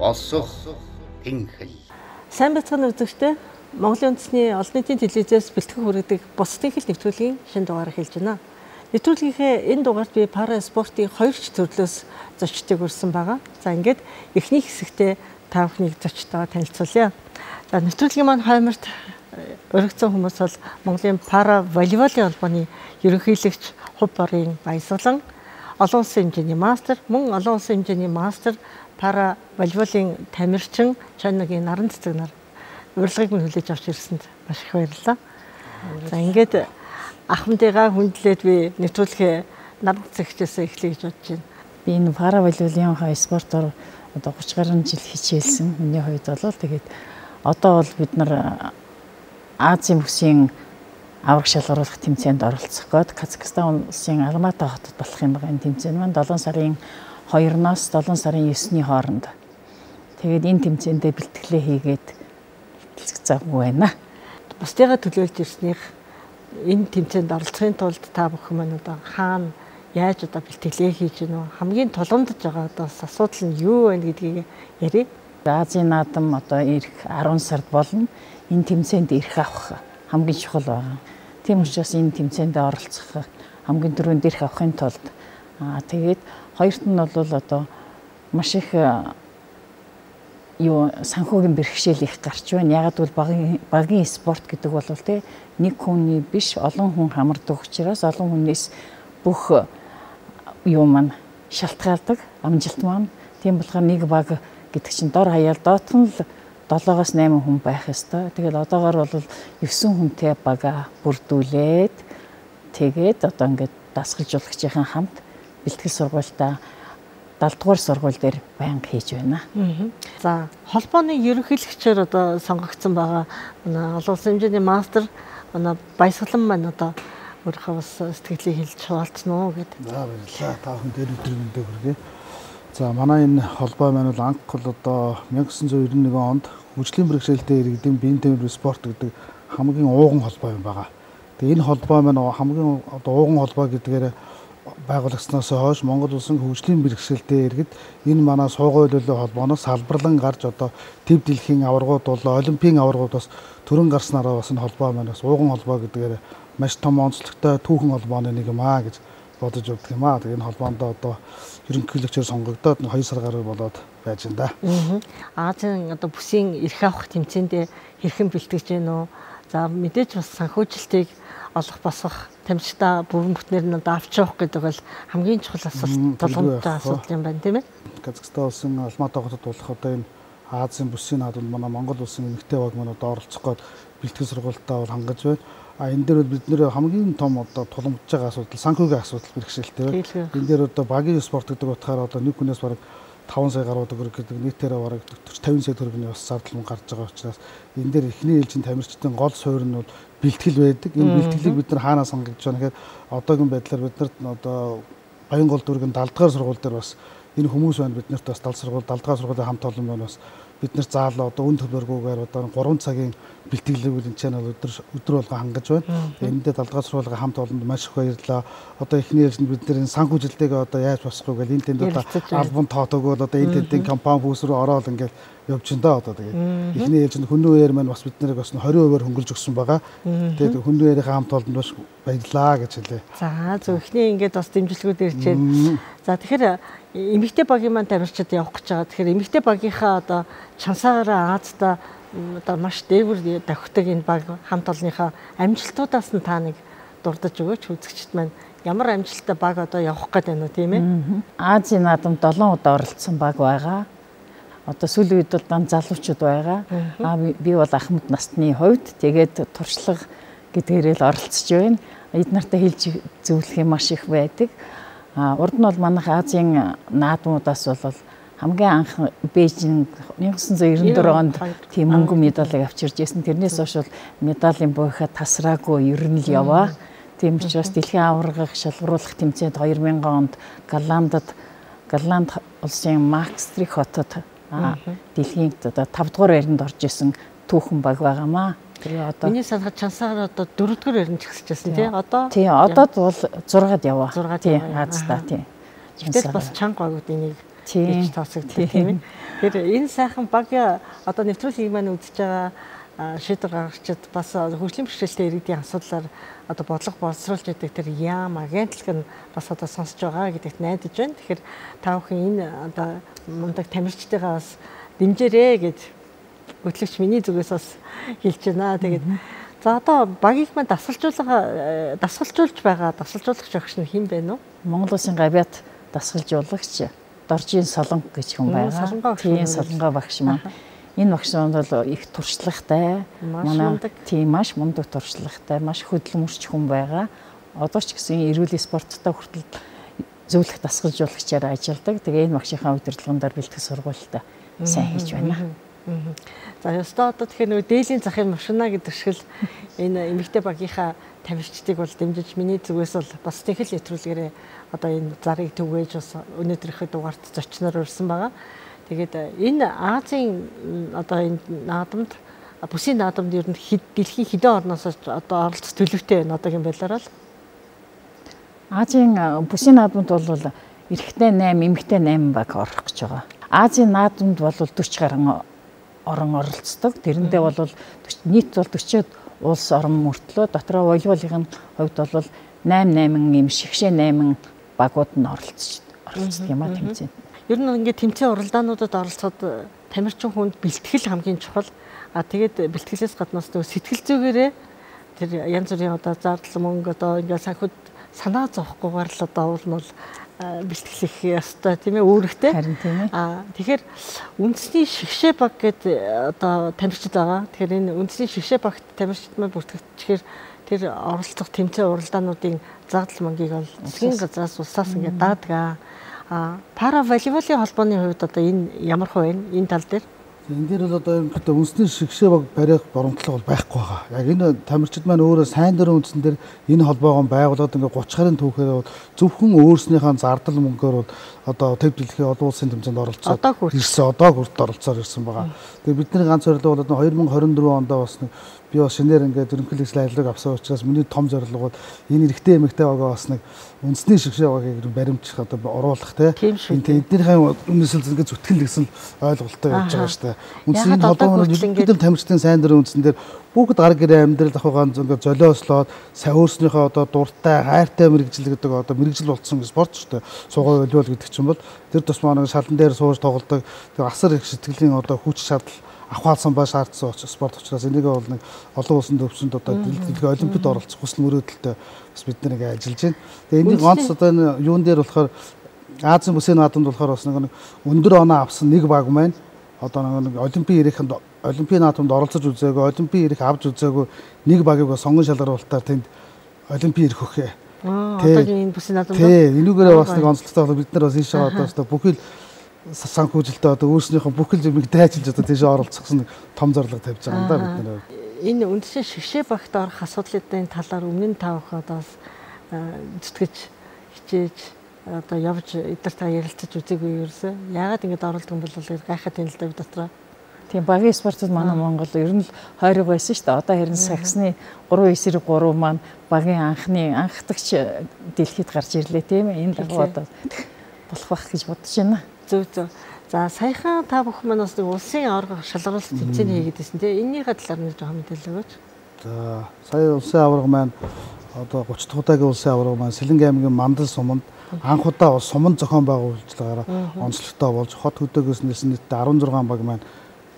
босох тэнхэл. Сайн бацхан үзэгчтэй Монголын үндэсний олон нийтийн телевизээс бэлтгэн хүргэдэг бос тэнхэл нэвтрүүлгийн шинэ дугаарыг хэлж байна. Нэвтрүүлгийнхээ энэ дугаарт би пара спортын 2 ч төрлөөс зочдыг урьсан байгаа. За ингээд эхний хэсэгтээ та бүхнийг зочдтойгоо танилцуулъя. За нэвтрүүлгийн маань хойморт өргөцсөн хүмүүс бол Монголын пара волейболын холбооны ерөнхийлөгч Хувь Борын Баясгалан, олон улсын хэмжээний мастер, мөн олон улсын хэмжээний мастер пара волейболын тамирчин Чанагийн наран цэцэг нар урилгыг минь хүлээж авч ирсэнд маш их баярлалаа. За ингээд ахмадыгаа хүндлээд би нэвтрүүлгээ наран цэцэгчээс эхлэе гэж бодож байна. Би энэ пара волейболын спортоор одоо 30 гаруй жил хичээлсэн. Миний хувьд бол тэгээд одоо бол бид нар Азийн бүсийн авраг шалгаруулах тэмцээнд оролцох гээд Казахстан улсын Алматы хотод болох юм байгаа энэ тэмцээн маань 7 сарын 2-оос 7 сарын 9-ний хооронд. Тэгээд энэ тэмцээндээ бэлтгэлээ хийгээд бэлтгэж завгүй байна. Бусдыгаа төлөөлж ирснийх энэ тэмцээнд оролцохын тулд та бүхэн маань одоо хаана яаж одоо бэлтгэлээ хийж гэнэ вэ? Хамгийн тулгамдж байгаа одоо асуудал нь юу вэ гэдгийг ярив. Азийн наадам одоо ирэх 10 сард болно. Энэ тэмцээнд ирэх авах хамгийн чухал байна. Тийм учраас энэ тэмцээнд оролцох хамгийн түрүүнд ирэх авахын тулд тэгээд хоёрт нь бол одоо маш их санхүүгийн бэрхшээл их гарч байна. Ягаад бол багийн спорт гэдэг бол нэг хүний биш олон хүн хамардаг учраас олон хүнээс бүх маань шалтгаалдаг амжилт маань. Тийм болохоор нэг баг гэдэг чинь дор хаяал доотх нь л 7-8 хүн байх ёстой. Тэгэл одоогоор бол 9 хүнтэй бага бүрдүүлээд тэгээд одоо ингээд дасгалжуулагчийн хамт бэлтгэл сургуультай 70 дугаар сургууль дээр байнга хийж байна. За холбооны ерөнхийлөгчөөр одоо сонгогдсон байгаа манай олон улсын хэмжээний мастер манай Баясгалан маань одоо өөрийнхөө бас сэтгэлийг хэлж хуваалцсан уу гэдэг. За баярлалаа. Та бүхэн дээр өдрөндөө хүргэе. За манай энэ холбоо маань бол анх бол одоо 1991 онд хөгжлийн бэрхшээлтэй иргэдийн биеийн тэмдэг спорт гэдэг хамгийн ууган холбоо юм байгаа. Тэгээ энэ холбоо маань хамгийн одоо ууган холбоо гэдгээр байгуулагдсанаас хойш Монгол улсын хөгжлийн бэрхшээлтэй иргэд энэ манай суугуй хөлөө холбооноос салбарлан гарч одоо төв дэлхийн аваргууд бол олимпийн аваргууд бас төрөн гарснараа бас энэ холбоо маань бас ууган холбоо гэдгээр маш том онцлогтой түүхэн холбооны нэг юм аа гэж бодож өгдөг юм аа. Тэгээ энэ холбоонд одоо ерөнхийлөгчөөр сонгогдоод 2 сар гаруй болоод байж энэ да. Азийн одоо бүсийн эрх авах тэмцээндээ хэрхэн бэлтгэж гэнэ үү? За мэдээж бас санхүүжилтийг олох босгох тамирчтай бүрэн бүтнээр нь авч явах гэдэг бол хамгийн чухал асуулт тулгамдж байгаа асуудал юм байна тийм ээ. Казахстан улсын Алматы хотод болох одоо энэ Азийн бүсийн наадамд манай Монгол улсын эмэгтэй баг маань одоо оролцох гээд бэлтгэл сургалтаа бол хангаж байна. Энэ дээр бид нэр хамгийн том одоо тулгамдж байгаа асуудал санхүүгийн асуудал бэрхшээлтэй байна. Энэ дээр одоо багийн спорт гэдэг утгаараа одоо нэг хүнээс бараг 5 сая гаруй төгрөг гэдэг нийтээрээ бараг 40-50 сая төгрөгийн бас зардал гарч байгаа учраас энэ дээр эхний ээлжийн тамирчдын гол суурь нь бол бэлтгэл байдаг. Энэ бэлтгэлийг бид нар хаанаас хангаж байна гэхээр одоогийн байдлаар бид нарт одоо Баянгол дүүргийн 70 дугаар сургууль дээр бас энэ хүмүүс байна бид нарт бас 70 дугаар сургуулийн хамт олон байна бас бид нар заалаа одоо үн төлбөргүйгээр одоо 3 цагийн бэлтгэлийг энэ чанал өдөр болго хангаж байна. Энд дээр 70 дугаар сургуулийн хамт олонд маш их баярлалаа. Одоо эхний ээлжинд бид нар энэ санхүүжилтэйгээ одоо яаж босох вэ гэл энэ тэнд одоо альбом тоотог бол одоо энэ тэндийн компани бүс рүү ороод ингээл явж байна да одоо тэгээд эхний ээлжинд хүннүү үеэр маань бас бид нарыг бас 20% хөнгөлж өгсөн байгаа. Тэгээд хүннүү үеэрийн хамт олонд бас баярлалаа гэж хэлээ. За зөв эхний ингээд бас дэмжлэгүүд ирж байна. За тэгэхээр эмэгтэй багийн маань тамирчид явах гэж байгаа. Тэгэхээр эмэгтэй багийнхаа одоо чансаагаараа Азтай одоо маш дээгүр давхдаг энэ баг хамт олонныхаа амжилтуудаас нь та нэг дурдж өгөөч үзэгчд маань ямар амжилттай баг одоо явах гээд байна уу тийм ээ? Азийн наадамд 7 удаа оролцсон баг байгаа. Одоо сүүлийн үед бол дан залуучууд байгаа. Би бол ахмад насны хувьд тэгээд туршлага гэдгээрээ л оролцож байна. Эд нартай хэлж зөвлөх юм маш их байдаг. Урд нь бол манайх Азийн наадмуудаас бол хамгийн анх Бээжинг 1994 онд тийм мөнгөн медалийг авчирж ирсэн. Тэрнээс хойш бол медалийн буйхаа тасраагүй ер нь л яваа. Тийм учраас дэлхийн аваргыг шалгаруулах тэмцээнд 2000 онд Голланд улсын Maastricht хотод дэлхийн одоо 5 дугаар байранд орж исэн түүхэн баг байгаамаа. Тэгээ одоо миний санахад чансаар одоо 4 дугаар байранд чигсчихсэн тий одоо. Тий одоо бол 6-ад яваа. Тий Азтай тий. Гэтэл бас чанга багуудын нэг гэж тооцогддог тийм ээ. Тэгэхээр энэ сайхан баг одоо нэвтрүүлгийг маань үзэж байгаа шийдвэр гаргагчид бас хөгжлийн бэрхшээлтэй иргэдийн асуудлаар одоо бодлого боловсруулж байдаг тэр яам агентлаг нь бас одоо сонсож байгаа гэдэгт найдаж байна. Тэгэхээр та бүхэн энэ одоо мундаг тамирчдыгаа бас дэмжээрэй гэж хөтлөгч миний зүгээс бас хэлж байна. Тэгээд за одоо багийг маань дасгалжуулж байгаа дасгалжуулагч багш нь хэн бэ нүү? Монгол Улсын гавьяат дасгалжуулагч Доржийн Солонго гэж хүн байгаа. Тийм Солонго багш маань. Энэ багш маань бол их туршлагатай, маш мундаг туршлагатай, маш хөдөлмөрч хүн байгаа. Одоо ч гэсэн эрүүл спорттой хүртэл зөвлөх дасгалжуулагчаар ажилладаг. Тэгээ энэ багшийнхаа удирдлагаар бэлтгэх сургуультай сайн хийж байна. За ёстой одоо тэгэхээр нөгөө дээлийн захын машина гэдэг шиг л энэ эмэгтэй багийнхаа тамирчдыг бол дэмжиж миний зүгээс бол бас техник нэвтрүүлгээрээ одоо энэ зарыг түгээж бас өнөөдрийнхөө дугаарт зочноор урьсан байгаа. Тэгээд энэ Азийн одоо энэ наадамд бүсийн наадамд ер нь дэлхийн хэдэн орноос одоо оролцох төлөвтэй байна одоогийн байдлаар л Азийн бүсийн наадамд бол эрэгтэй 8, эмэгтэй 8 баг орох гэж байгаа. Азийн наадамд бол 40 гаруй орон оролцдог. Тэрэндээ бол нийт бол 40 улс орон мөртлөө дотроо волейболын хувьд бол 8 юм шигшээ 8 багууд нь оролцдог юм а тэмцээн. Ер нь ингээд тэмцээн уралдаануудад оролцоход тамирчин хүнд бэлтгэл хамгийн чухал. Тэгээд бэлтгэлээс гаднаас нөгөө сэтгэл зүгээрээ тэр янз бүрийн одоо зардал мөнгө одоо ингээд санхуд санаа зовхгүйгээр л одоо уул нь бол бэлтгэлэх ёстой тийм ээ үүрэгтэй. Харин тийм ээ. Тэгэхээр үндэсний шигшээ баг гэдэг одоо тамирчид байгаа. Тэгэхээр энэ үндэсний шигшээ багт тамирчид маань бүртгэгдэхээр тэр оролцох тэмцээн уралдаануудын зардал мөнгийг бол засгийн газраас улсаас ингээд даадаг. Пара волейболын холбооны хувьд одоо энэ ямар хувь вэ? Энэ тал дээр энэ дээр бол одоо юм үндэсний шигшээ баг барих боромтлог бол байхгүй байгаа. Яг энэ тамирчид маань өөрөө сайн дөрөв үндсэн дээр энэ холбоогоо байгуулад ингээ 30 гаруй түүхээр зөвхөн өөрснийхөө зардал мөнгөөр бол одоо төв дэлхийн олон улсын тэмцээнд оролцоод ирсэн одоо хүрт оролцоод ирсэн байгаа. Тэгээ бидний ганц зорилго бол 2024 онд бас би бас шинээр ингээд ерөнхийлөгчл ажлыг авсан учраас миний том зорилго бол энэ эрэгтэй эмэгтэй байгаа бас нэг үндэсний шигшээ багийг баримтчих одоо оруулах тийм эднийхээ үнэсэл ингээд зүтгэл гэсэн ойлголттой явж байгаа шүү дээ. Үндэсний холбооны ерөнхийдөө тамирчдын сайн дөрөв үндсэн дээр бүгд гар гэрээ амьдрал ахуй ганц ингээд золиослоод өөрснийхөө одоо дуртай хайртай мэрэгжил гэдэг одоо мэрэгжил болцсон спорт шүү дээ. Сугой волейбол гэдэг чинь бол тэр тусмаа нэг шалан дээр сууж тоглодог тэр асар их сэтгэлийн одоо хүч чадал авахалсан ба шаардсан спорт учраас энийг бол нэг олон улсын төвшөнд одоо дэлхийн олимпиад оролцох хүсэл мөрөөдөлтэй бас бид нэг ажиллаж байна. Тэгээ энийг ганц одоо энэ юун дээр болохоор Азийн бүсийн наадамд болохоор бас нэг өндөр оноо авсан нэг баг маань одоо нэг олимпийн наадамд оролцож үзээгүй, олимпийн ирэх авч үзээгүй нэг багийг сонгон шалгаруулалтаар тэнд олимпийн ирэх өгье. Одоогийн энэ бүсийн наадамд энүүгээрээ бас нэг онцлогтой бол бид нар бас ийшээ одоо бүхэл санхүүжилтээ одоо өөрснийхөө бүхэл зүйлийг дайчилж одоо тийш оролцох гэсэн том зорилго тавьж байгаа юм да бид нэр. Энэ үндэсний шигшээ багт орох асуудлын талаар өмнө нь та бүхэн одоо зүтгэж хичээж одоо явж эдгээртээ ярилцаж үзээгүй ерөөсөө. Яагаад ингэж оролдог юм бол гайхаад байна л да бид дотроо. Тийм багийн спортод манай Монгол ер нь хойрог байсан шүү дээ. Одоо харин саксны 3-9-3 маань багийн анхдагч дэлхийд гарч ирлээ тийм ээ. Энэ дагуу одоо болох байх гэж бодож байна. Зөв. За саяхан та бүхэн маань бас нэг улсын аварга шалгаруулалт тэмцээний хийгээд байсан тийм. Энийхээ талаар нэг жоохон мэдээлэл өгөөч. За сая улсын аварга маань одоо 30 дахь удаагийн улсын аварга маань Сэлэнг аймгийн Мандал суманд анх удаа суманд зохион байгуулалтаараа онцлогтой болж хот хөдөөгөөс нэлсэн нийтдээ 16 баг маань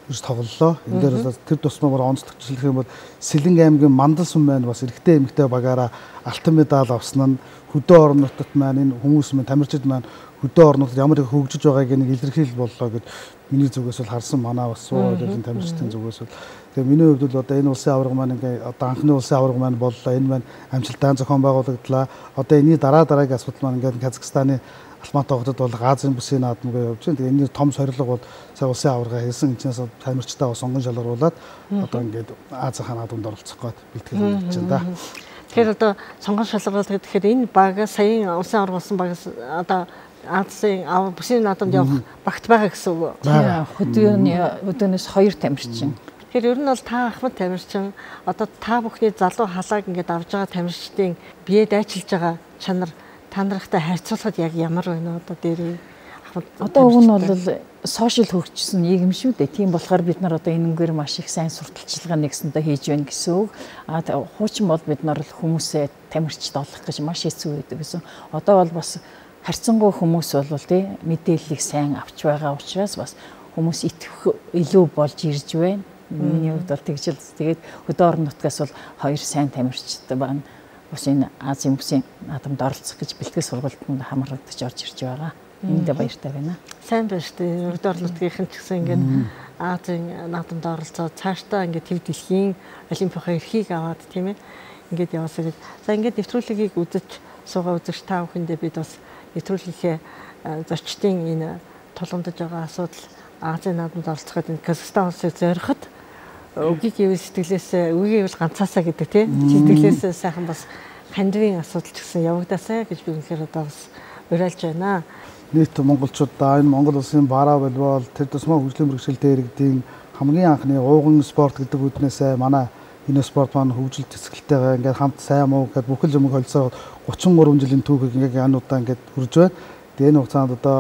ирж тоглолоо. Энэ дээр тэр тусмаа бүр онцлогчлох юм бол Сэлэнг аймгийн Мандал сум маань бас эрэгтэй эмэгтэй багаараа алтан медаль авсан нь хөдөө орон нутгад маань энэ хүмүүс маань тамирчид маань хөдөө орон нутгад ямар их хөгжиж байгааг нэг илэрхийлэл боллоо гэд миний зүгээс бол харсан манай бас суу ойлын тамирчдын зүгээс бол тэгээ миний хувьд бол одоо энэ улсын аварга маань ингээ одоо анхны улсын аварга маань боллоо. Энэ маань амжилттай зохион байгуулагдлаа. Одоо энэний дараагийн асуудал маань ингээ Казахстаны Алматы хотод бол Азийн бүсийн наадамгаа явж байна. Тэгээ энэний том зорилго бол сая улсын аварга хийсэн энэчнээс тамирчдаа сонгон шалгаруулад одоо ингээд Азийн наадамд оролцох гээд бэлтгэл хийж байна да. Тэгэхээр одоо сонгон шалгаруулалт гэхээр энэ баг саяын улсын аварга болсон багаас одоо Азийн бүсийн наадамд явах багт байгаа гэсэн үг. Тийм өдөөнөөс 2 тамирчин. Тэгэхээр ер нь бол та ахмад тамирчин одоо та бүхний залуу халааг ингээд авж байгаа тамирчдын бие дайчилж байгаа чанар та нартай харьцуулахад яг ямар байна одоо дээр ахмад. Одоо уг нь бол сошиал хөгжсөн нийгэм шүү дээ. Тийм болохоор бид нар одоо энэнгээр маш их сайн сурталчилгаа нэгсэндээ хийж байна гэсэн үг. Хуучин бол бид нар хүмүүсээ тамирчид олох гэж маш хэцүү байдаг гэсэн. Одоо бол бас харьцангуй хүмүүс бол тий мэдээллийг сайн авч байгаа учраас бас хүмүүс итгэх илүү болж ирж байна. Миний хувьд бол тэгж л тэгээд хөдөө орон нутгаас бол 2 сайн тамирчид байна. Бас энэ Азийн бүсийн наадамд оролцох гэж бэлтгэл сургалтанд хамрагдаж орж ирж байгаа. Эндээ баяртай байна. Сайн байна шүү дээ. Хөдөө орон нутгийнхэн ч гэсэн ингээд Азийн наадамд оролцоод цаашдаа ингээд төв дэлхийн олимпийн эрхийг аваад тийм ээ ингээд яваасаа гэж. За ингээд нэвтрүүлгийг үзэж суугаа үзэж та бүхэндээ бид бас нэвтрүүлгийнхээ зочдын энэ тулгамдж байгаа асуудал Азийн наадамд оролцоход энэ Казахстан улсыг зориход үгийн сэтгэлээс үгийн ганцаасаа гэдэг тийм сэтгэлээс сайхан бас хандивын асуудал ч гэсэн явагдаасаа гэж би үнэхээр одоо бас уриалж байна. Нийт монголчуудаа энэ Монгол улсын пара волейбол тэр тусмаа хөгжлийн бэрхшээлтэй иргэдийн хамгийн анхны ууган спорт гэдэг үднээсээ манай энэ спорт маань хөгжил зэсгэлтэйгээ ингээд хамт сайн муу гэдэг бүхэл юмыг холцоо 33 жилийн түүхийг ингээд януудаа ингээд хүрж байна. Тэгээ энэ хугацаанд одоо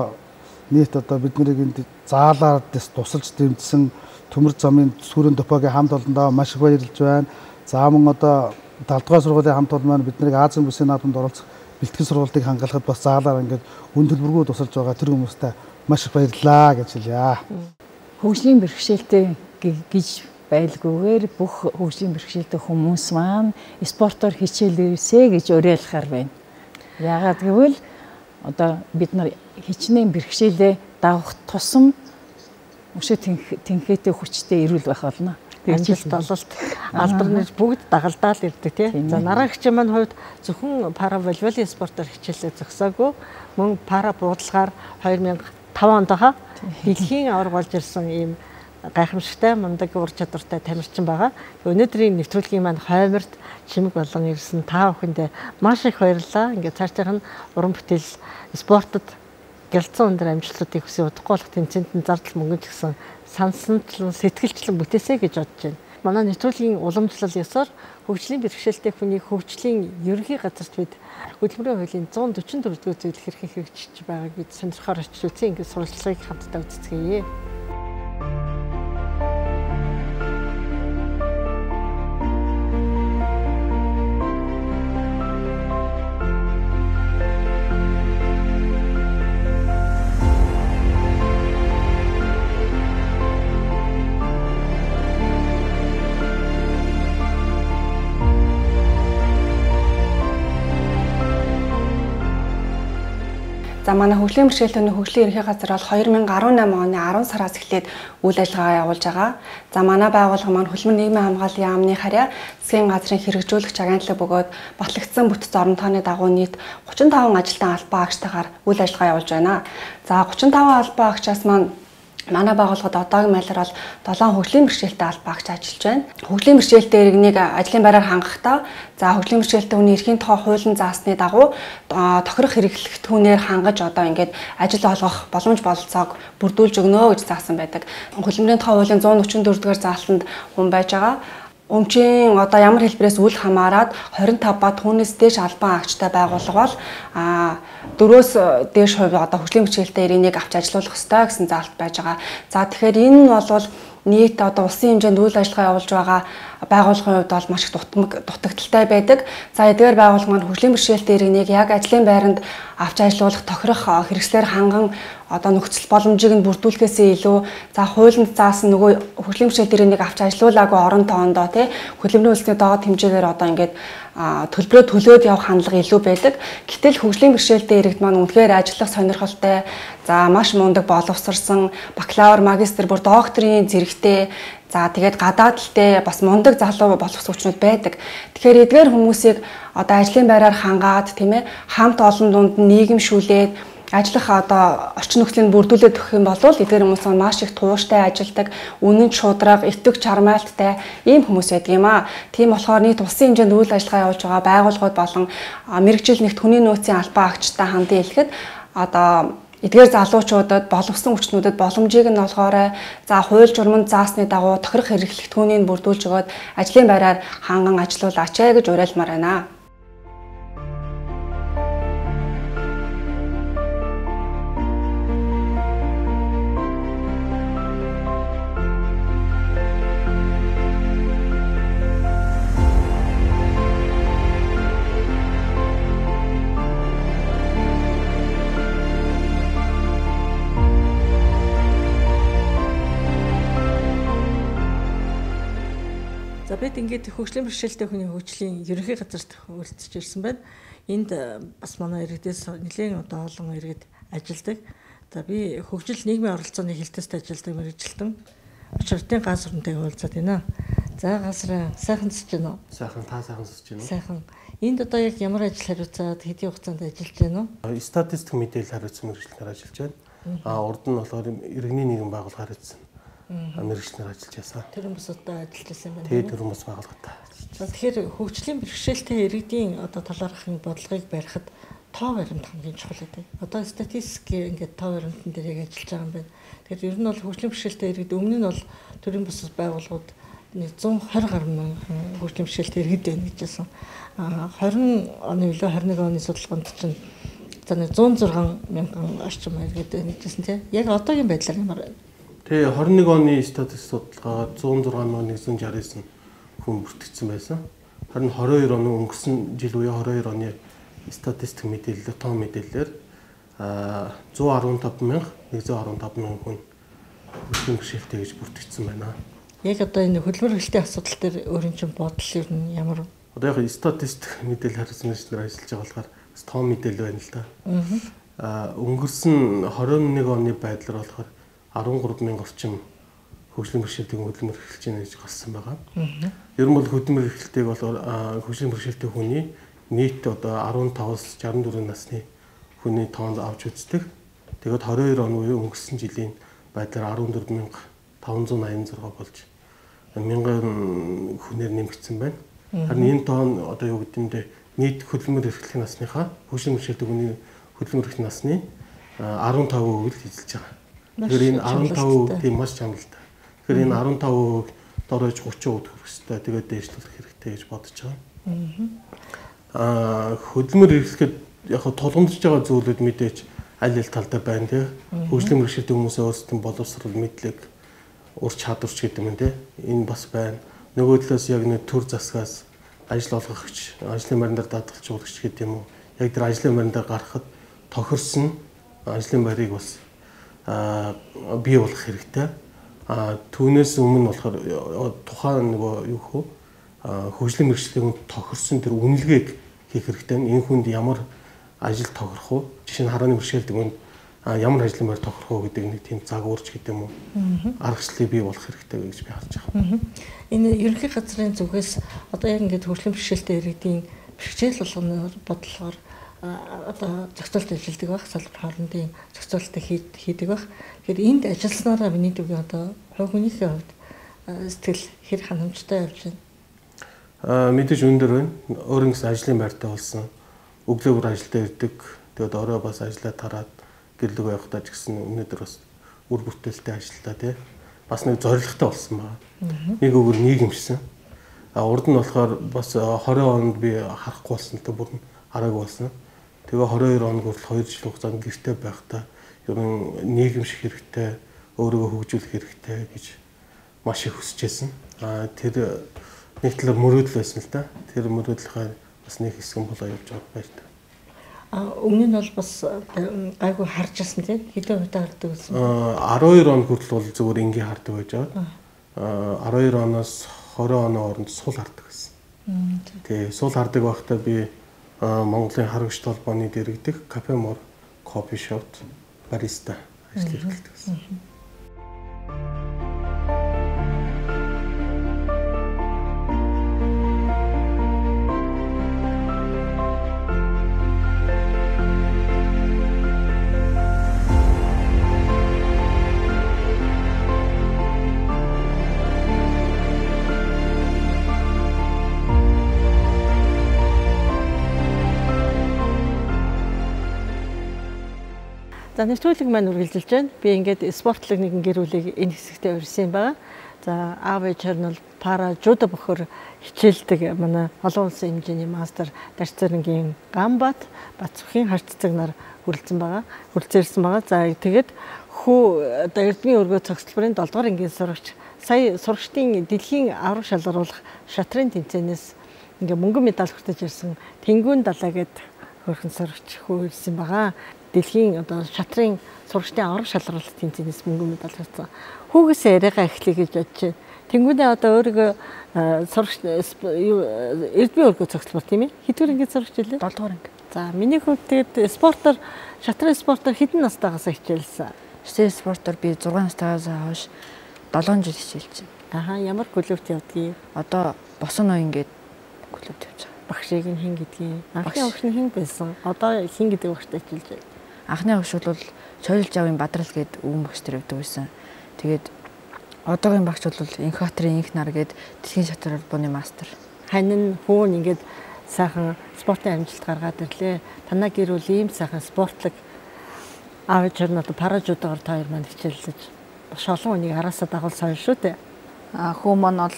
нийт одоо бид нарыг энд заалаар тусалж дэмжсэн төмөр замын сүрэн допогийн хамт олондоо маш их баярлж байна. За мөн одоо 7 дугаар сургуулийн хамт олон маань бид нарыг Азийн бүсийн наадамд оролцох бэлтгэл сургалтыг хангалтад бас заалаар ингээд үн төлбөргүй тусалж байгаа тэр хүмүүстээ маш их баярлалаа гэж хэлье. Хөгжлийн бэрхшээлтэй гэж байлгүйгээр бүх хөгжлийн бэрхшээлтэй хүмүүс маань спортоор хичээлээсэ гэж уриалахаар байна. Яагаад гэвэл одоо бид нар хичнээн бэрхшээлээ давах тусам өшөө тэнхээтэй хүчтэй ирүүл байх болно. Ажилт ололт алдарнаж бүгд дагалдаал ирдэг тийм. За нараагчийн маань хувьд зөвхөн пара волейболын спортоор хичээлээ зогсоогүй мөн пара буудалгаар 2005 онд дэлхийн аварга болж ирсэн ийм гайхамшигтай мундаг ур чадвартай тамирчин байгаа. Өнөөдрийн нэвтрүүлгийн маань хойморт чимэг болон ирсэн та бүхэндээ маш их баярлалаа. Ингээд цаашдынх нь уран бүтээл спортод гялцсан өндөр амжилтуудыг хүсье удахгүй болох тэмцээнд нь зардал мөнгө ч гэсэн сансанчлан сэтгэлчлэн бүтээсэй гэж бодож байна. Манай нэвтрүүлгийн уламжлал ёсоор хөгжлийн бэрхшээлтэй хүний хөгжлийн ерөнхий газарт бид хөдөлмөрийн хуулийн 144 дугаар зүйлийг хэрхэн хэрэгжиж байгааг бид сонирхоор очиж үзье. Ингээд сурвалжлагыг хамтдаа үздэцгээе. За манай хөгжлийн бэрхшээлтэй хөгжлийн ерөнхий газар бол 2018 оны 10 сараас эхлээд үйл ажиллагаа явуулж байгаа. За манай байгууллага маань Хөдөлмөр нийгмийн хамгааллын яамны харьяа засгийн газрын хэрэгжүүлэгч агентлаг бөгөөд батлагдсан бүтц орон тооны дагуу нийт 35 ажилтан албан агчтайгаар үйл ажиллагаа явуулж байна. За 35 албан агчаас маань манай байгууллагад одоогийн байдлаар бол 7 хөгжлийн бэрхшээлтэй албан агч ажиллаж байна. Хөгжлийн бэрхшээлтэй иргэнийг ажлын байраар хангахдаа за хөгжлийн бэрхшээлтэй хүний эрхийн тухай хуулийн заасны дагуу тохирох хэрэглэгдэхүүнээр хангаж одоо ингээд ажил олгох боломж бололцоог бүрдүүлж өгнө гэж заасан байдаг. Хөдөлмөрийн тухай хуулийн 144 дугаар заалтанд хүн байж байгаа. Өмчийн одоо ямар хэлбэрээс үл хамааран 25 ба түүнээс дээш албан агчтай байгууллага бол 4-өөс дээш хувь одоо хөгжлийн бэрхшээлтэй иргэнийг авч ажилуулах ёстой гэсэн заалт байж байгаа. За тэгэхээр энэ нь бол нийт одоо улсын хэмжээнд үйл ажиллагаа явуулж байгаа байгууллагын хувьд бол маш их дутагдaltaй байдаг. За эдгээр байгууллага маань хөгжлийн бэрхшээлтэй иргэнийг яг ажлын байранд авч ажилуулах тохирох хэрэгслээр ханган одоо нөхцөл боломжийг нь бүрдүүлэхээс илүү за хуулинд заасан нөгөө хөгжлийн бэрхшээлтэй иргэнийг авч ажилуулаагүй орон тоондоо тий хөдөлмөрийн үйлсний доод хэмжээгээр одоо ингээд төлбөрөө төлөөд явах хандлага илүү байдаг. Гэтэл хөгжлийн бэрхшээлтэй иргэд маань үнэхээр ажиллах сонирхолтой, за маш мундаг боловсрсан, бакалавр, магистр, бүр докторийн зэрэгтэй, за тэгээд гадаадалтай бас мундаг залуу боловсруучнууд байдаг. Тэгэхээр эдгээр хүмүүсийг одоо ажлын байраар хангаад тийм ээ хамт олон дунд нийгэмшүүлээд ажиллах одоо орчин нөхцөлийг бүрдүүлээд өгөх юм бол эдгээр хүмүүс маш их тууштай ажилдаг, үнэн шударга, итгэж чармайлттай ийм хүмүүс байдаг юм аа. Тийм болохоор нийт улсын хэмжээнд үйл ажиллагаа явуулж байгаа байгууллагууд болон мэрэгжил нэгт хүний нөөцийн албан агчтай хандсан хэлэхэд одоо эдгээр залуучуудад боловсон хүчнүүдэд боломжийг нь олгоорой. За хууль журманд заасны дагуу тохирох хэрэглэгдэхүүнийг бүрдүүлж өгөөд ажлын байраар ханган ажилуулаач гэж уриалмаар байна. За бид ингээд хөгжлийн бэрхшээлтэй хүний хөгжлийн ерөнхий газарт өрөлдөж ирсэн байна. Энд бас манай иргэдээс нэлээд одоо олон иргэд ажилладаг. За би хөгжил нийгмийн оролцооны хилтэст ажилладаг мэргэжилтэн очиртын ганц өрөнтэйг уулзаад байна. За газар сайхан сэж байна уу? Сайхан та сайхан сэж байна уу? Сайхан. Энд одоо яг ямар ажил хариуцаад хэдийн хугацаанд ажиллаж байна уу? Статистик мэдээлэл хариуцсан мэргэжилтээр ажиллаж байна. Урд нь болохоор иргэний нийгэм байгууллага хариуцсан мэргэжилтээр ажиллаж байсан. Төрийн бусадтай ажиллаж байсан юм байна. Тэгээ төрийн бус байгууллагатай. За тэгэхээр хөгжлийн бэрхшээлтэй иргэдийн одоо талаархын бодлогыг барихад тоо баримт хамгийн чухал гэдэг. Одоо статистик ингээд тоо баримтан дээр яг ажиллаж байгаа юм байна. Тэгэхээр ер нь бол хөгжлийн бэрхшээлтэй иргэд өмнө нь бол төрийн бус байгууллагууд 120 гаруй мянган хөгжлийн бэрхшээлтэй иргэд байна гэж хэлсэн. 20 оны үлээ 21 оны судалгаанд чинь за 106 мянган орчим иргэд байна гэж хэлсэн тийм. Яг одоогийн байдлаар ямар байна? Тэгээ 21 оны статистик судалгаагаар 106,169 хүн бүртгэгдсэн байсан. Харин 22 оны өнгөрсөн жил үе 22 оны статистик мэдээлэл тоо мэдээлэлээр 115,115 хүн хөгжлийн бэрхшээлтэй гэж бүртгэгдсэн байна. Яг одоо энэ хөдөлмөр эрхлэлтийн асуудал дээр өөрийн чинь бодол ер нь ямар? Одоо яг статистик мэдээлэл хариуцсан мэргэжилтээр ажиллаж байгаа болохоор тоо мэдээлэл байна л да. Өнгөрсөн 21 оны байдлаар болохоор 13,000 орчим хөгжлийн бэрхшээлтэй хөдөлмөр эрхэлж байна гэж гарсан байгаа. Ер нь бол хөдөлмөр эрхлэлтэйг бол хөгжлийн бэрхшээлтэй хүний нийт одоо 15-аас 64 насны хүний тоонд авч үздэг. Тэгээд 22 оны үеийн өнгөрсөн жилийн байдлаар 14,586 болж 1000 хүнээр нэмэгдсэн байна. Харин энэ тоон одоо юу гэдэндээ нийт хөдөлмөр эрхлэх насныхаа хөгжлийн бэрхшээлтэй хүний хөдөлмөр эрхлэх насны 15% л эзэлж байгаа. Тэгэхээр энэ 15% тийм маш чангалтай. Тэгэхээр энэ 15% дорож 30% хүрэх хэрэгтэй. Тэгээд дээшлүүлэх хэрэгтэй гэж бодож байгаа. Хөдөлмөр эрхлэхэд яг тулгамдж байгаа зүйлүүд мэдээж аль аль талдаа байна тий. Хөгжлийн бэрхшээлтэй хүмүүсээ өөрсдөө боловсрол мэдлэг ур чадварч гэдэг юм тий. Энэ бас байна. Нөгөө талаас яг нэг төр засгаас ажил олгогч, ажлын байран дээр даатгалжуулагч гэдэг юм уу. Яг тэр ажлын байран дээр гарахад тохирсон ажлын байрыг бас бий болгох хэрэгтэй. Түүнээс өмнө болохоор тухайн нөгөө юу хөө хөгжлийн бэрхшээлийн тохирсон тэр үнэлгээг хийх хэрэгтэй. Энэ хүнд ямар ажил тохирох уу? Жишээ нь харааны бэрхшээлтэй хүнд ямар ажлын байр тохирох уу гэдэг нэг тийм загварч гэдэг юм уу? Аргачлалыг бий болох хэрэгтэй гэж би харж байгаа. Энэ ерөнхий газрын зүгээс одоо яг ингээд хөгжлийн бэрхшээлтэй иргэдийн бэрхшээл болгоноор бодлогоор одоо зохицуулт ажилладаг байх, салбар хоорондын зохицуултыг хийдэг байх. Тэгэхээр энд ажилласнараа миний дүгийн одоо хувь хүнийхээ хувьд сэтгэл хэр ханамжтай явж байна? Мэдээж өндөр байна. Өөрийн гэсэн ажлын байртай болсон. Өглөө бүр ажилдаа ирдэг. Тэгээд орой бас ажиллаа тараад гэрлэг явахдаа ч гэсэн өнөөдөр бас үр бүтээлтэй ажиллаа тий. Бас нэг зорилготой болсон байна. Нэг өгөр нийгэмшсэн. Урд нь болохоор бас 20 онд би харахгүй болсон л та бүр хараагүй болсон. Тэгээ 22 хоног хүртэл 2 жил хугацаанд гэртээ байхдаа ер нь нийгэмших хэрэгтэй, өөрийгөө хөгжүүлэх хэрэгтэй гэж маш их хүсэжсэн. Тэр нэг талаар мөрөөдөл байсан л да. Тэр мөрөөдлийнхаа бас нэг хэсэг нь болоо явж байгаа байж та. Өмнө нь бол бас гайгүй харж ирсэн тийм хэдэн удаа хардаг байсан. 12 хоног хүртэл бол зөвхөн ингийн хардаг байж байгаа. 12 оноос 20 оны хооронд сул хардаг байсан. Тэгээ сул хардаг байхдаа би Монголын харгагч толгойн дэргэдэх Кафе Мор кофе шопт бариста ажил эрхэлдэг байсан. За нэвтрүүлэг маань үргэлжилж байна. Би ингээд спортлог нэгэн гэр бүлийг энэ хэсэгтээ урьсан байгаа. За аав ээж нь бол пара жудо бохор хичээлдэг манай олон улсын хэмжээний мастер Дарцэрэнгийн Гамбат Бацүхийн харццаг нар хүрэлцэн байгаа. За тэгээд хүү одоо Эрдмийн өргөө цогцлбарын 7 дугаар ангийн сурагч сая сурагчдын дэлхийн авраг шалгаруулах шатрын тэмцээнээс ингээ мөнгөн медаль хүртэж ирсэн Тэнгүүн далаа гээд хөрхэн сурагч хүү ирсэн байгаа. дэлхийн одоо шатрын сурагчдын авраг шалралт тэмцээнээс мөнгө медаль авсан. Хүүгээсээ яриагаа эхлэе гэж бодож байна. Тэнгүүдээ одоо өөрийгөө сурагч эрдмийн өргөө цогцлбор тийм ээ. Хэдгээр ингээд сурагч илээ? 7 дугаар анги. За миний хувьд тэгээд спортоор шатрын спортоор хэдэн настайгаас хичээлсэн? Шатрын спортоор би 6 настайгаас хойш 7 жил хичээлж байна. Ямар клубт явдгийг? Одоо босон ноён гээд клубт явж байгаа. Багшийг нь хэн гэдгийг? Анхны багш нь хэн байсан? Одоо хэн гэдэг багштай хичээлж байна? Анхны багш бол Чойлж авын Бадрал гээд өвөн багш тэр явдаг байсан. Тэгээд одоогийн багш бол Инхбаатарын инх нар гээд дэлхийн шатрын албаны мастер. Хань хүүн ингээд сайхан спортын амжилт гаргаад ирлээ. Танаа гэр бүл ийм сайхан спортлог аав ээж нь одоо паражуудаар та хоёр маань хичээллэж маш олон хүнийг араасаа дагуулсан шүү дээ. Хүү маань бол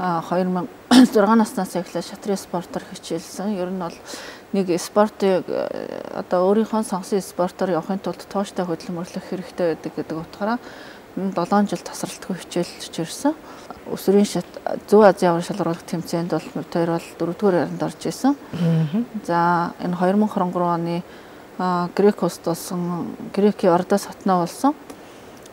2006 наснаас эхлээд шатрын спортоор хичээлсэн. Ер нь бол нэг спортыг одоо өөрийнхөө сонгосон спортоор явахын тулд тууштай хөдөлмөрлөх хэрэгтэй байдаг гэдэг утгаараа 7 жил тасралтгүй хичээлж ирсэн. Өсвөрийн шат Зүүн Азийн авраг шалралт тэмцээнд бол тэр бол 4-р ярианд орж исэн. За энэ 2023 оны Грекост болсон Грекийн Ордос хотноо болсон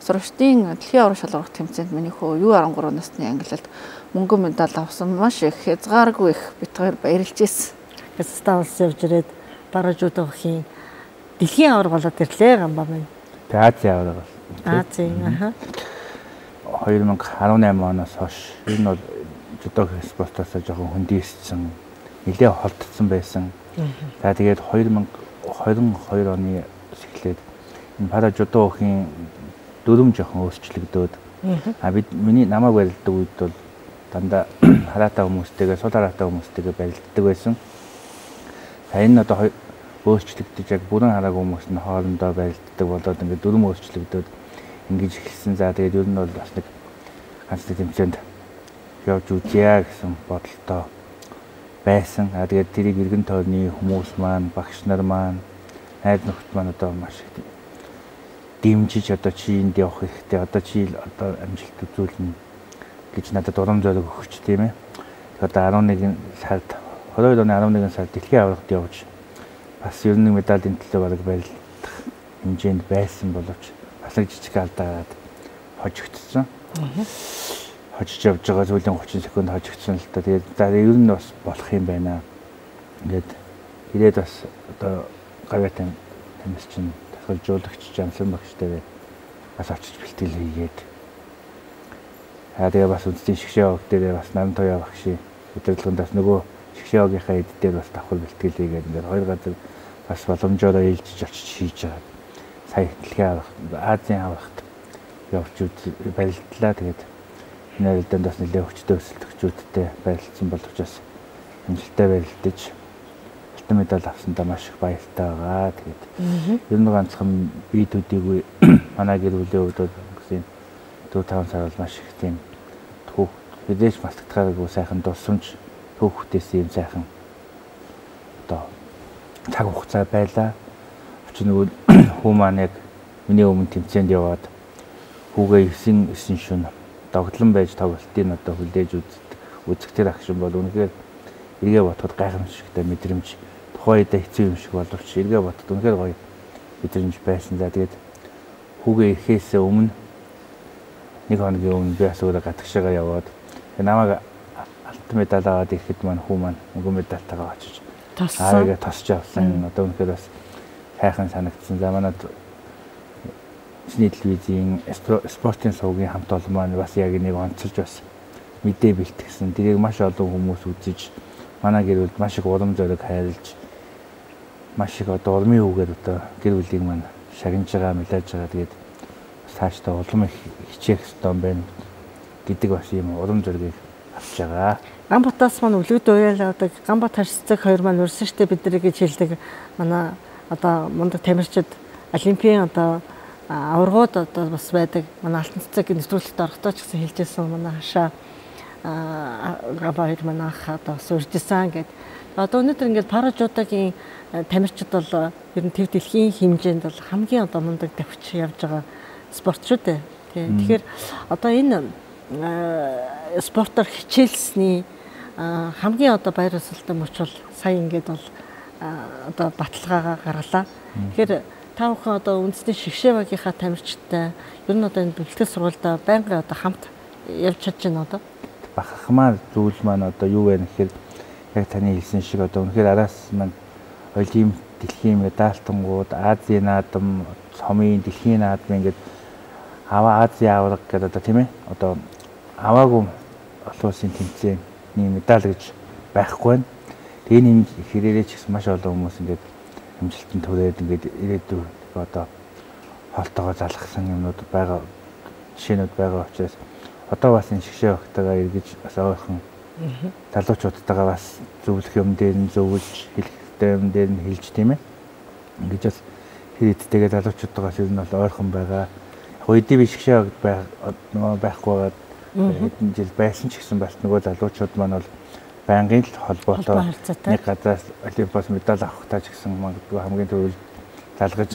сурагчдын дэлхийн авраг шалралт тэмцээнд миний хөө U13 насны ангилалд мөнгө медаль авсан. Маш их хязгааргүй их битгаар баярлж ирсэн. Ставс явж ирээд паражуудын дэлхийн авраг болоод ирлээ гамбаа минь. Азийн авраг. Азийн 2018 оноос хойш энэ бол жудо спортоос жоохон хөндийссэн, нэлээд холдсон байсан. За тэгээд 2022 оны эхлээд энэ пара жудогийн дүрм жоохон өөрчлөгдөөд бид миний намайг барилддаг үед бол дандаа хараатай хүмүүстэйгээ сул хараатай хүмүүстэйгээ барилддаг байсан. Энэ одоо өөрчлөгдөж яг бүрэн хараагүй хүмүүс нь хоорондоо барилддаг болоод ингээд дүрм өөрчлөгдөөд ингэж эхэлсэн. За тэгээд ер нь бол бас нэг ганц тэмцээнд явж үзье гэсэн бодолтой байсан. Тэгээд тэрийг иргэн тойрны хүмүүс маань, багш нар маань, найз нөхд маань одоо маш их дэмжиж одоо чи энд явах хэрэгтэй, одоо чи одоо амжилт үзүүлнэ гэж надад урам зориг өгч тийм ээ. Одоо 11 сард 22 оны 11 сард дэлхийн аврагт явж бас ер нь медалийн төлөө бараг барилдах хэмжээнд байсан боловч бас нэг жижиг алдаад хожигдсон. Хожиж явж байгаа зүйлийн 30 секунд хожигдсон л та. Тэгээд за ер нь бас болох юм байна. Ингээд ирээд бас одоо гавьяатан тэмээс чинь тасгалжуулагч Жамлан багштай бас очиж бэлтгэл хийгээд тэгээ бас үндэсний шгшээ ог дээр бас Нам Тоя багшийн удирдлагаас нөгөө шгшээ огийнхаа эд дээр бас давхар бэлтгэл хийгээд ингээд хоёр газар бас боломжоор ээлжиж очиж хийж байгаа. Сая дэлхийн аврагт Азийн аврагт явж барилдлаа. Тэгээд энэ арилдаанд бас нэлээд хүчтэй өсөлтөгчүүдтэй барилдсан боловч бас амжилттай барилдаж алтан медаль авсандаа маш их баяртай байгаа. Тэгээд ер нь ганцхан бие төдийгүй манай гэр бүлийн хувьд гэсэн 4-5 сар бол маш их тийм түүх мэдээж малтагдахааргүй сайхан дурсамж түүхтэйс юм сайхан одоо цаг хугацаа байлаа. Нөгөө хүү маань яг миний өмнө тэмцээнд яваад хүүгээ 9 шөнө догтлон байж тоглолтын одоо хүлээж үзэгтэр агшин бол үнэхээр эргээ бодоход гайхамшигтай мэдрэмж тухайн үедээ хэцүү юм шиг боловч эргээ бодоход үнэхээр гоё мэдрэмж байсан. За тэгээд хүүгээ ирэхээс өмнө нэг хоногийн өмнө би бас өөрөө гадагшаага яваад намайг алтан медаль аваад ирэхэд маань хүү маань мөнгө медальтайгаа очиж аагаа тосч авсан. Одоо үнэхээр бас хайхан санагдсан. За манад Сний телевизийн спортын сувгийн хамт олон маань бас яг нэг онцолж бас мэдээ бэлтгэсэн. Тэрийг маш олон хүмүүс үзэж манай гэр бүлд маш их урам зориг хайрлаж маш их одоо урмын үгээр одоо гэр бүлийг маань шагнаж байгаа, мэлэж байгаа. Тэгээд цаашдаа улам их хичээх ёстой юм байна гэдэг бас юм урам зориг авч байгаа. Гамбатаас маань өлгөд уяалаадаг Гамбат харьцаг хоёр маань урьсан штэ бид нар гэж хэлдэг. Манай одоо мундаг тамирчид олимпийн одоо аваргууд одоо бас байдаг. Манай алтан цэцэг нэвтрүүлэгт орохдоо ч гэсэн хэлжсэн манай хашаа габайд манайх одоо суржсан гэдэг. Одоо өнөөдөр ингээд паражуудагийн тамирчид бол ер нь төв дэлхийн хэмжээнд бол хамгийн одоо мундаг давхиж явж байгаа спорт шүү дээ. Тэгэхээр одоо энэ спортоор хичээлсний хамгийн одоо баяр ёслолтой мөч бол сая ингээд бол одоо баталгаагаа гарлаа. Тэгэхээр Та бүхэн одоо үндэсний шигшээ багийнхаа тамирчтай ер нь одоо энэ бэлтгэл сургуультай байнга одоо хамт явж чадж байна одоо. Бахархмаар зүйл маань одоо юу вэ гэхээр яг таны хэлсэн шиг одоо үнэхээр араас маань оюутан дэлхийн медальтангууд, Азийн наадам, цомын дэлхийн наадам ингээд Азийн авраг гэдэг одоо тийм ээ. Одоо аваагүй олон улсын тэмцээний медаль гэж байхгүй байна. Тэгээ энэ хэрээрээ ч гэсэн маш олон хүмүүс ингээд амжилтанд хүрээд ингээд ирээдүйн одоо хоолтойгоо залгасан юмнууд байгаа, жишээнүүд байгаа учраас одоо бас энэ шигшээ багтайгаа эргэж бас ойрхон залуучуудтайгаа бас зөвлөх юм дээр нь зөвлөж, хэлэхтэй юм дээр нь хэлж тийм ээ. Ингэж бас хэрэгтэйгээ залуучуудтайгаас ер нь бол ойрхон байгаа. Яг үедээ би шигшээ байхгүй байгаад хэдэн жил байсан ч гэсэн бас нөгөө залуучууд маань бол байнгын л холбоотой нэг газраас олимпиас медаль авахтаа ч гэсэн магадгүй хамгийн түрүүнд залгаж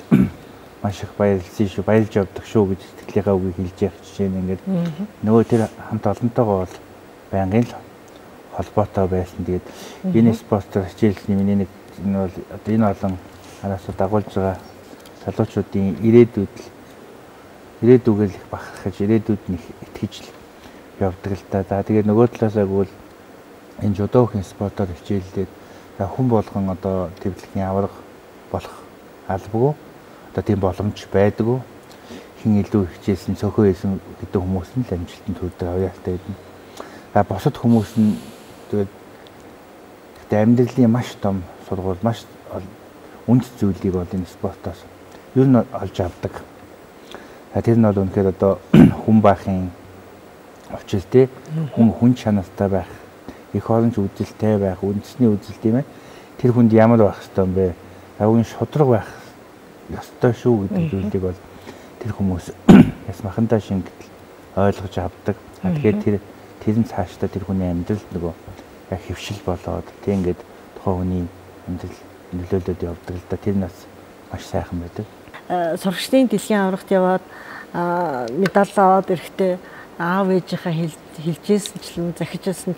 маш их баярлсан шүү, баярлж явдаг шүү гэж сэтгэлийнхаа үгийг хэлж явах жишээ нь ингээд нөгөө тэр хамт олонтойгоо бол байнгын л холбоотой байсан. Тэгээд энэ спортоор хичээлсний миний нэг энэ бол одоо энэ олон араасаа дагуулж байгаа залуучуудын ирээдүгээр их бахархаж, ирээдүйд нь их итгэж явдаг л да. За тэгээд нөгөө талаасаа гэвэл энэ жудогийн спортоор хичээллээд хүн болгон одоо төвлөгийн авраг болох албагүй одоо тийм боломж байдаггүй. Хин илүү хичээсэн цөөхөө хийсэн гэдэг хүмүүс нь л амжилтанд хүрдэг авьяастай байдаг. За бусад хүмүүс нь тэгээд амьдралын маш том сургууль, маш үнд зүйлийг бол энэ спортоос ер нь олж авдаг. Тэр нь бол үнэхээр одоо хүн баахын очил тий хүн чанартай байх, их оронч үзэлтэй байх, үндэсний үзэл тийм ээ. Тэр хүнд ямар байх ёстой юм бэ? Авгийн шудраг байх ёстой шүү гэдэг зүйлийг бол тэр хүмүүс яс махандаа шингэтэл ойлгож авдаг. Тэгэхээр тэр нь цаашдаа тэр хүний амьдралд нөгөө яг хөвшил болоод тийм ингээд тухайн хүний амьдрал нөлөөлөд явдаг л да. Тэр нь бас маш сайхан байдаг. Сурагчдын дэлхийн аврагт яваад медаль аваад ирэхдээ аав ээжийнхээ хэлжсэн захижсэн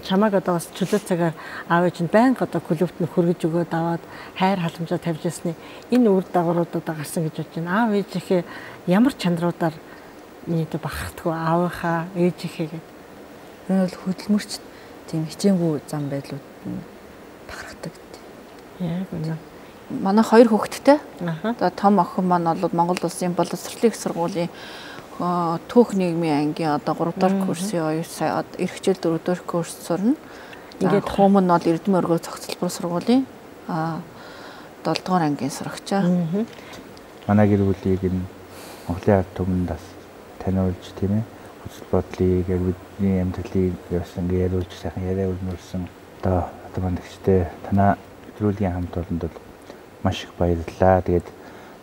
чамайг одоо бас чөлөө цагаар аав ээж нь байнга одоо клубт нь хөргөж өгөөд аваад хайр халамжаа тавьж ясны энэ үр дагавруудад гарсан гэж бодож байна. Аав ээжийнхээ ямар чанаруудаар миний дэ бахардггүй аавынхаа ээжийнхээ гэдэг. Энэ бол хөдөлмөрч тийм хичээнгүй зам байдлууд нь бахархдаг. Яг үнэ. Манай хоёр хүүхэдтэй. Одоо том охин маань бол Монгол Улсын боловсролын их сургуулийн түүх нийгмийн ангийн одоо 3 дахь курсын оюутан эрх хичээл 4 дахь курс сурна. Ингээд хум нь бол Эрдэнэ өргөө цогцлбор сургуулийн 7 дугаар ангийн сурагчаа. Манай гэр бүлийг энэ Монголын ард түмэнд бас таниулж тийм ээ. Хүсэл бодлыг яг бидний амьдралыг бас ингээд яриулж сайхан яриа өрнүүлсэн. Одоо мандагчтай танаа нэвтрүүлгийн хамт олонд бол маш их баярлалаа. Тэгээд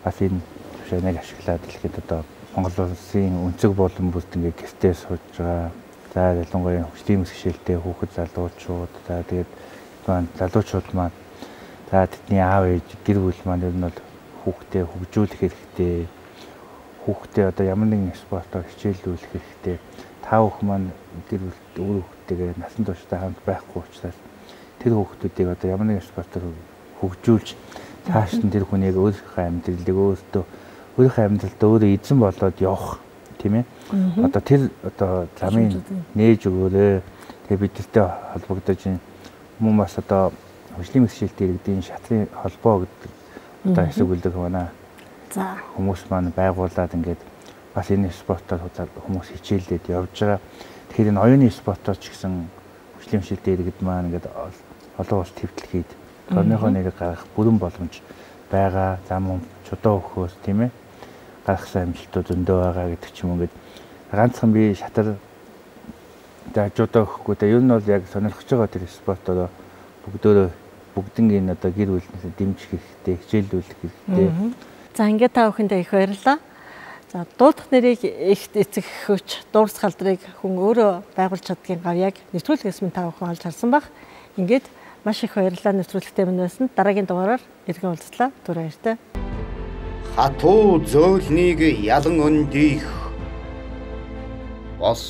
бас энэ төвшөөнийг ашиглаад дэлхийд одоо Монгол Улсын өнцөг болон бүрт ингээд гэртээ сууж байгаа. За ялангуяа хөгжлийн мэсгшээлтэй хүүхэд залуучууд, за тэгээд залуучууд маань за тэдний аав ээж гэр бүл маань ер нь бол хүүхдээ хөгжүүлэх хэрэгтэй. Хүүхдээ одоо ямар нэгэн спортоор хичээллүүлэх хэрэгтэй. Та бүхэн маань гэр бүлд өөр хүүхдтэйгээ насан туршдаа хамт байхгүй учраас тэр хүүхдүүдийг одоо ямар нэгэн спортоор хөгжүүлж цааш нь тэр хүнийг өөрийнхөө амьдралыг өөрийнхөө амьдралдаа өөрөө эзэн болоод явах тийм ээ. Одоо тэр одоо замын нээж өгөөрэй. Тэгээ бидэртэй холбогдож мөн бас одоо хөгжлийн мэсгшээлтэй иргэдийн шатрын холбоо гэдэг одоо хэсэгүүлдэг байна. За хүмүүс маань байгуулад ингээд бас энэ спортоор хүмүүс хичээллээд явж байгаа. Тэгэхээр энэ оюуны спортоор ч гэсэн хөгжлийн мэсгшээлтэй иргэд маань ингээд олон улс твтлэхэд орныхоо нэрийг гаргах бүрэн боломж байгаа. Зам чудаа өгөхөөс тийм ээ гаргасан амжилтууд зөндөө байгаа гэдэг ч юм уу. Ингээд ганцхан би шатар даажуудаа өгөхгүй дээ. Ер нь бол яг сонирхож байгаа тэр спортоор бүгднийг одоо гэр бүлнээс дэмжих хэрэгтэй, хичээллүүлэх хэрэгтэй. За ингээд та бүхэндээ их баярлалаа. За дуудах нэрийг их эцэг өгч дуурс халдрыг хүн өөрөө байгуулж чаддгийн гавьяаг нэвтрүүлгээс минь та бүхэн олж харсан баг. Ингээд маш их баярлалаа нэвтрүүлэгтэй минь байсан. Дараагийн дугаараар иргэн уулзлаа. Түр баяртай. Хатуу зөөлнийг ялан өндих бос